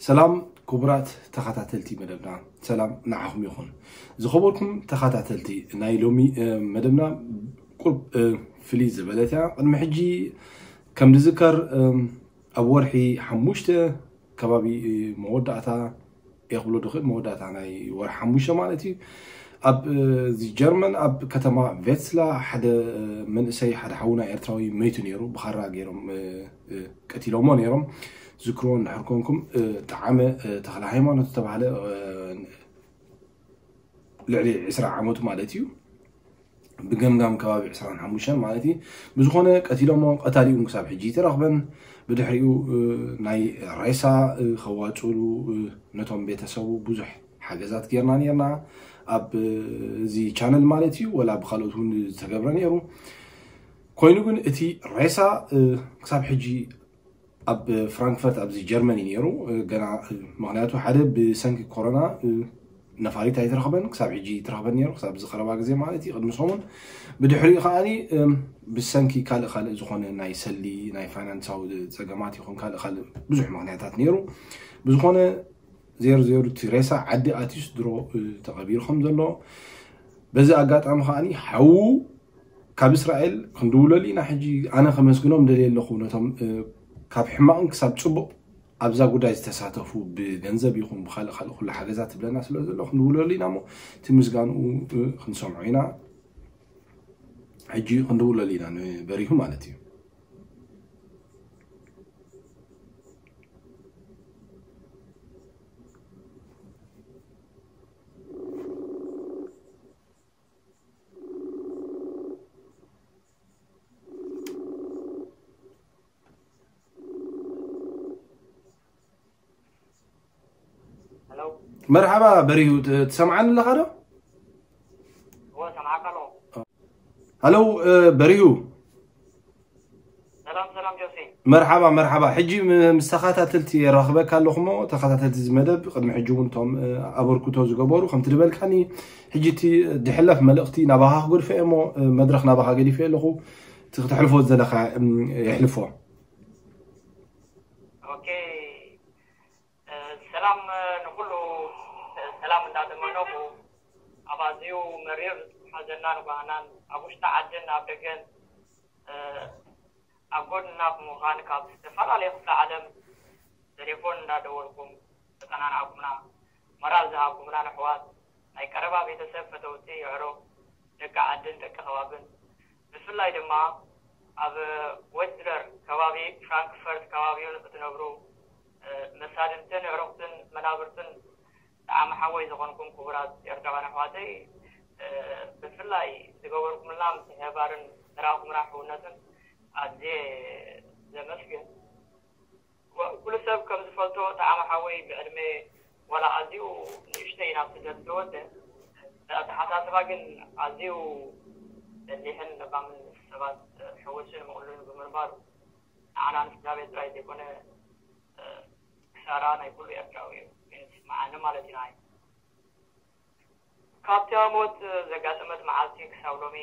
ሰላም ክቡራት ተኸታተልቲ መደብና፣ ሰላም ንዓኹም ይኹን። ዝኸበርኩም ተኸታተልቲ ናይ ሎሚ መደብና፣ ቁርብ ፍልይ ዝበለት እያ። ቅድሚ ሕጂ ከም ዝዝከር ኣብ ወርሒ ሓሙሽተ ከባቢ መወዳእታ እየ ክብሎ ድኽእል፣ መወዳእታ ናይ ወርሒ ሓሙሽተ ማለት እዩ። ኣብ እዚ ጀርመን ኣብ ከተማ ቬትስላ ሓደ መንእሰይ፣ ሓደ ሓውና ኤርትራዊ መይቱ ነይሩ። ብኻራ ገይሮም ቀቲሎሞ ነይሮም። ዝክርዎ እንድሕር ኮንኩም፣ ጠዓመ ተኽለ ሃይማኖት ዝተባህለ፣ ልዕሊ ዕስራ ዓመቱ ማለት እዩ። ብገምጋም ከባቢ ዕስራን ሓሙሽተን ማለት እዩ። ብዝኾነ ቀቲሎሞ፣ ቀታሊኡ ክሳብ ሕጂ ይተረኽበን። ብድሕሪኡ ናይ ሬሳ ከዋፅሉ ነቶም ቤተሰቡ ብዙሕ ሓገዛት ጌርና ነርና። ኣብ እዚ ቻነል ማለት እዩ፣ ወላ ብካልኦት እውን ዝተገብረ ነይሩ። ኮይኑ ግን እቲ ሬሳ ክሳብ ሕጂ ኣብ ፍራንክፈርት ኣብዚ ጀርመን እዩ ነይሩ። ገና ምክንያቱ ሓደ ብሰንኪ ኮሮና ነፋሪት ኣይተረኽበን፣ ክሳብ ሕጂ ይተረኽበን ነይሩ፣ ክሳብ እዚ ቀረባ ግዜ ማለት እዩ፣ ቅድሚ ሰሙን። ብድሕሪኡ ከዓኒ ብሰንኪ ካልእ ካልእ ዝኾነ ናይ ሰሊ ናይ ፋይናንሳዊ ፀገማት ይኹን ካልእ ካልእ ብዙሕ ምክንያታት ነይሩ። ብዝኾነ ዜሩ ዜሩ እቲ ሬሳ ዓዲ ኣትዩስ ድሮ ተቐቢሩ ከም ዘሎ፣ በዚ ኣጋጣሚ ከዓኒ ሓዉ ካብ እስራኤል ክንድውለሉ ኢና። ሕጂ ኣነ ከመስግኖም ደልየ ኣለኹ ነቶም ካብ ሕማቕን ክሳብ ፅቡቕ ኣብዛ ጉዳይ ዝተሳተፉ፣ ብገንዘብ ይኹን ብካልእ ካልእ ኩሉ ሓገዛት ትብለና ስለ ዘሎ ክንድውለሉ ኢና እሞ እቲ ምስጋንኡ ክንሰምዖ ኢና። ሕጂ ክንድውለሉ ኢና ንበሪሁ ማለት እዩ። መርሓባ በሪሁ፣ ትሰምዓኒ ኣለኻ ዶ? ሃለው በሪሁ። መርሓባ መርሓባ። ሕጂ ምስ ተኸታተልቲ የራኽበካ ኣለኹ እሞ፣ ተኸታተልቲ እዚ መደብ ቅድሚ ሕጂ እውን እቶም ኣበርክቶ ዝገበሩ ከምቲ ዝበልካኒ፣ ሕጂ እቲ ድሕለፍ መልእኽቲ ናባኻ ክገድፎ እየ እሞ፣ መድረኽ ናባኻ ገዲፈ ኣለኹ። እቲ ክተሕልፎ ዝደለኻ የሕልፎ። ሰላም ንኩሉ፣ ሰላም እንዳተመነኹ፣ ኣብ ኣዝዩ መሪር ሓዘናን ጓህናን ኣብ ውሽጢ ዓድን ኣብ ደገን ኣብ ጎድንና ብምዃን ካብ ዝተፈላለየ ክፍለ ዓለም ቴሌፎን እንዳደወልኩም ዘጸናናዕኩምና፣ ሞራል ዝሃብኩምናን ኣሕዋት፣ ናይ ቀረባ ቤተሰብ፣ ፈተውቲ፣ የዕሩኽ፣ ደቂ ዓድን ደቂ ከባብን፣ ብፍላይ ድማ ኣብ ዌትስለር ከባቢ፣ ፍራንክፈርት ከባቢኡን እትነብሩ መሳድንትን የዕሩኽትን መናብርትን ጠዓመ ሓወይ ዝኾንኩም ክቡራት ኤርትራውያን ኣሕዋተይ፣ ብፍላይ ዝገበርኩምልና ምትሕብባርን ዘርኣኹምና ሕውነትን ኣዝየ ዘመስግን። ኩሉ ሰብ ከም ዝፈልጦ ጠዓመ ሓወይ ብዕድመ ዋላ ኣዝዩ ንእሽተይ ናብ ስደት ዝተወደ፣ ብኣተሓሳስባ ግን ኣዝዩ በሊሕን ለባምን ምስ ሰባት ሕውስን ምቕሉልን ብምንባሩ ንዓና ንስድራ ቤት ጥራይ ዘይኮነ ክሳራ ናይ ኩሉ ኤርትራዊ እዩ ኮይኑ ዝስምዓኒ ማለት ኢና። ካብታ ሞት ዘጋጠመት መዓልቲ ክሳብ ሎሚ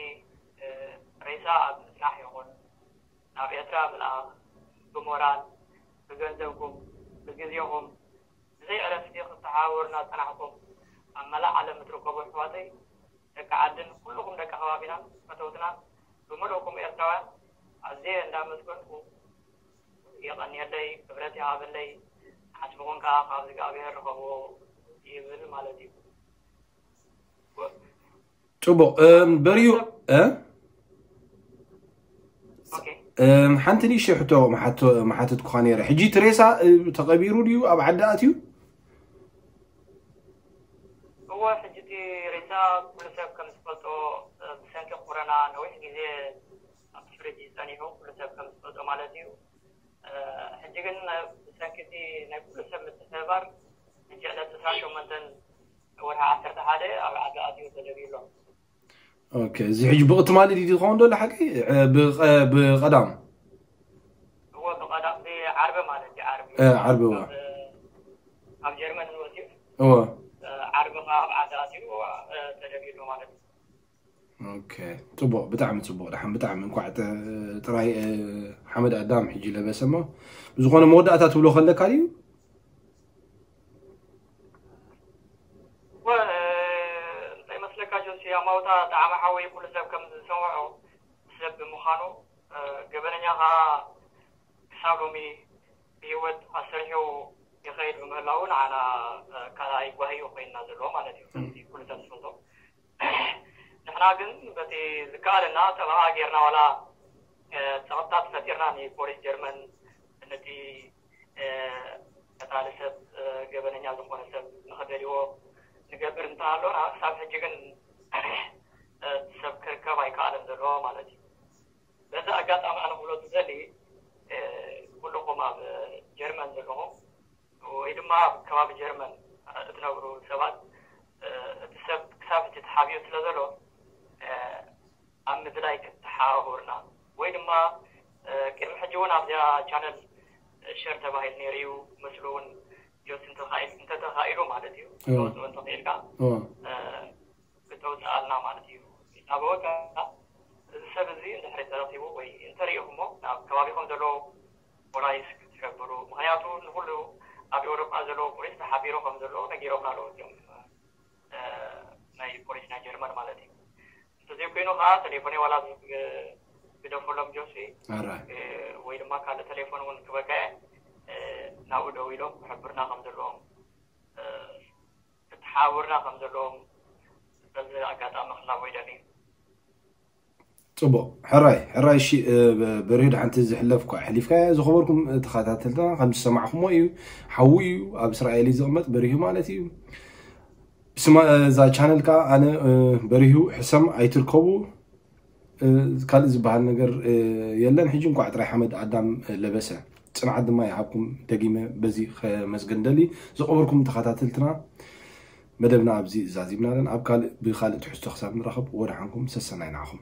ሬሳ ኣብ ምጽናሕ ይኹን ናብ ኤርትራ ምልኣኽ ብሞራል ብገንዘብኩም ብግዜኹም ብዘይ ዕረፍቲ ክትተሓባበሩና ዝጸናሕኩም ኣብ መላእ ዓለም እትርከቡ ኣሕዋተይ ደቂ ዓድን ኩልኹም ደቂ ከባቢናን ፈተውትናን ብምልእኩም ኤርትራውያን ኣዝየ እንዳመስገንኩ የቐንየለይ፣ ክብረት ይሃበለይ፣ ዓስብኹም ከኣ ካብ እግዚኣብሔር ርኸብዎ ይብል ማለት እዩ። ጽቡቕ በርዩ ሓንቲ ንእሽተይ ሕቶ መሓተትኩኻ ነይረ። ሕጂ እቲ ሬሳ ተቐቢሩ ድዩ ኣብ ዓዲ ኣትዩ? እወ፣ ሕጂ እቲ ሬሳ ኩሉ ሰብ ከም ዝፈልጦ ብሰንኪ ኮረና ነዊሕ ግዜ ኣብ ፍሪጅ እዩ ጸኒሑ፣ ኩሉ ሰብ ከም ዝፈልጦ ማለት እዩ። ሕጂ ግን ብሰንኪ እቲ ናይ ኩሉ ሰብ ምትሕብባር ሕጂ ዕለት ዕስራን ሸሞንተን ወርሒ ዓሰርተ ሓደ ኣብ ዓዲ ኣትዩ ተደብዩ ኣሎ። ኦኬ፣ እዚ ሕጂ ብቕትማሊ ድዩ ዝኸውን ዘሎ ሓቂ? ብቐዳም እወ፣ ብቐዳም ብዓርቢ ማለት እዩ። ዓርቢ ዓርቢ እወ ኣብ ጀርመን ንወፂኡ እወ ዓርቢ ከዓ ኣብ ዓዲ ኣትዩ ተደብዩ ኣሎ ማለት እዩ። ኦኬ፣ ፅቡቕ፣ ብጣዕሚ ፅቡቕ። ደሓን ብጣዕሚ እንኳዕ ጥራይ ሓመድ ኣዳም ሕጂ ለበሰ እሞ፣ ብዝኾነ መወዳእታ ትብሎ ከለካ ድዩ? ጣዕመ ሓወይ ኩሉ ሰብ ከም ዝሰምዖ ሰብ ብምዃኑ፣ እ፣ ገበነኛ ኸዓ ክሳብ ሎሚ ብህይወት ኣሰርሑ ይኸይድ ብምህላዉ ንዓና፣ እ፣ ካልኣይ ጓሂ እዩ ኮይንና ዘሎ ማለት እዩ። ከምዚ ኩሉ ሰብ ዝፈልጦ። ንሕና ግን በቲ ዝከኣለና ጠበቓ ጌርና ዋላ፣ እ፣ ጸቕጥታት ፈጢርና ንፖሊስ ጀርመን ነቲ፣ እ፣ ቀታሊ ሰብ፣ እ፣ ገበነኛ ዝኾነ ሰብ ንኸደልይዎ ንገብር እንተሃለና፣ ክሳብ ሕጂ ግን፣ እ፣ ሰብ ክርከብ ኣይከኣለን ዘሎ ማለት እዩ። በዚ ኣጋጣሚ ኣነ ክብሎ ዝደሊ፣ እ፣ ኩልኹም ኣብ ጀርመን ዘለኹም ወይ ድማ ኣብ ከባቢ ጀርመን እትነብሩ ሰባት፣ እ፣ እቲ ሰብ ክሳብ ሕጂ ተሓቢኡ ስለ ዘሎ፣ እ፣ ኣብ ምድላይ ክትተሓባበሩና ወይ ድማ፣ እ፣ ቅድሚ ሕጂ እውን ኣብዚኣ ቻነል ሸር ተባሂሉ ነይሩ እዩ። ምስሉ እውን ጆስ እንተኻኢል-፣ እንተተኻኢሉ ማለት እዩ። እወ። ተወፅኦ እንተኽኢልካ፣ እወ። እ፣ ክተውፅኣልና ማለት እዩ። ይታበወካ። እዚ ሰብ እዚ እንድሕሪ ተረኺቡ ወይ እንተሪኢኹሞ ናብ ከባቢኹም ዘሎ ፖላይስ ክትሕብሩ። ምኽንያቱ ንኹሉ ኣብ ኤውሮጳ ዘሎ ፖሊስ ተሓቢሩ ከም ዘሎ ነጊሮምና ኣለዉ እዚኦም፣ እ፣ ናይ ፖሊስ ናይ ጀርመን ማለት እዩ። እንተዘይኮይኑ ከዓ ቴሌፎነይ ዋላ ብ-፣ ግደፈሎም ጆሲ፣ ኣራይ። እ፣ ወይ ድማ ካልእ ቴሌፎን እውን ክበካ እየ፣ እ፣ ናብኡ ደዊሎም ክሕብርና ከም ዘለዎም፣ እ፣ ክትሓብርና ከም ዘለዎም በዚ ኣጋጣሚ ክላቦ ይደሊ። ጽቡቕ። ሕራይ፣ ሕራይ፣ እሺ፣ እ፣ በ-፣ በርሂድ ሓንቲ ዝሕለፍ እኳ ኣሕሊፍካያ። ዝኸበርኩም፣ እ፣ ተኸታተልትና፣ ከም ዝሰማዕኩሞ እዩ። ሓዉ እዩ፣ ኣብ እስራኤል እዩ ዝቕመጥ፣ በርሂ ማለት እዩ። ብስማ-፣ እ፣ እዛ ቻነል ከኣ ኣነ፣ እ፣ በርሂ ሕሰም ኣይትርከቡ፣ እ፣ ካልእ ዝበሃል ነገር፣ እ፣ የለን። ሕጂ እንኳዕ ጥራይ ሓመድ ኣዳም፣ እ፣ ለበሰ። ጽንዓት ድማ ይሃብኩም። ደጊመ በዚ ከመስገን ደሊ። ዝኸበርኩም ተኸታተልትና፣ መደብና ኣብዚ ዛዚምና ኣለና። ኣብ ካልእ፣ ብኻልእ ትሕዝቶ ክሳብ ንራኸብ፣ ወደሓንኩም፣ ሰሰናይ ንዓኹም።